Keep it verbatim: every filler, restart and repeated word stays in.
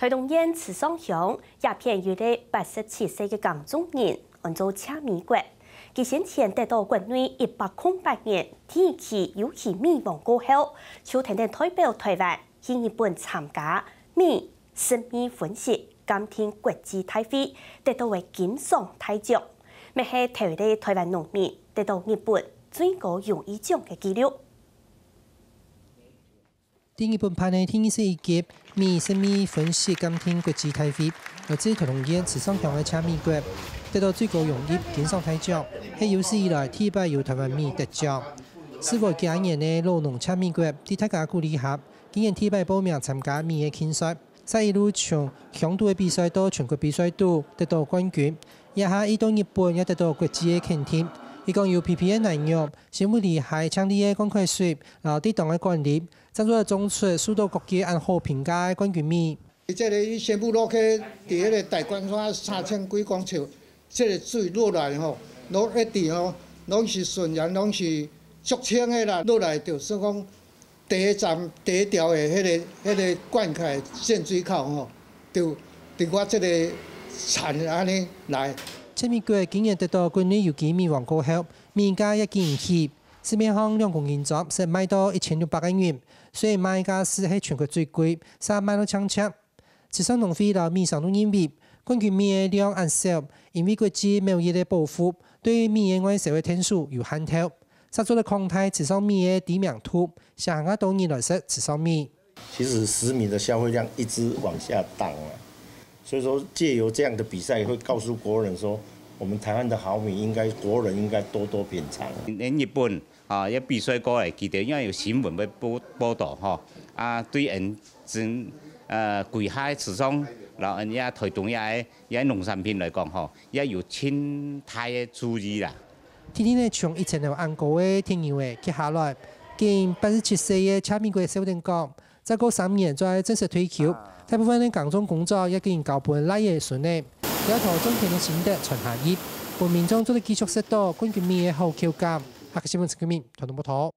臺東縣池上鄉這片有一個八十七歲个耕種人，安做謝美國。佢先前得到國內一百空八年第一期有機米王過後，就跈等代表臺灣去日本參加米、食米分析鑑定國際大會，得到个金賞大獎，乜係頭一個臺灣農民得到日本最高榮譽獎个紀錄。 在日本辦个第二十一屆米食米分析鑑定國際大會，來自臺東縣池上鄉个謝美國，得到最高榮譽金賞大獎，係有史以來第一擺有臺灣米得獎。事隔幾下年个老農謝美國，在大家鼓勵下，今年第一擺報名參加米个競賽，煞一路從鄉肚个比賽到全國比賽都得到冠軍，這下佢到日本也得到國際个肯定。佢講有P P A南洋、生物利害淨俐个灌溉水，摎適當个管理， 正做得種出受到各界恁好評價个冠軍米。這個伊宣布落去，佇彼个大觀山三千幾公尺，這個水落來吼，落一直吼，攏是順延，攏是足清个啦。落來就算講第一站、第一條的彼個、彼個灌溉限水口吼，就佇我這個田按呢來。謝美國今年得到國內有機米王過後，米價也緊起，市面上兩公斤裝係賣到一千六百個銀， 雖然賣價斯係全國最貴，煞賣到淨值。池上農會摎米商都認為，冠軍米个量恁少，因為國際貿易个保護，對米个外銷个天數有限頭，煞做得擴大池上米个知名度，吸引較多人來食池上米。其實食米的消費量一直往下降啊，所以說藉由這樣的比賽，會告訴國人說，我們台灣的好米應該國人應該多多品嘗。連日本 啊，也比賽過來，佢兜也有新聞會報報導吼，啊，對𫣆真呃歸下个池上，然後𫣆也臺東也个也農產品來講吼，也有盡大个注意啦。天天个從一千頭恁高个鐵牛仔蹶下來，今八十七歲个謝美國笑等講，再過三年就愛正式退休，大部分个耕種工作也緊交分倈仔孫仔，也同種田个心得傳下去，分民眾做得繼續食到冠軍米个好口感。客家新聞陳國民，臺東報導。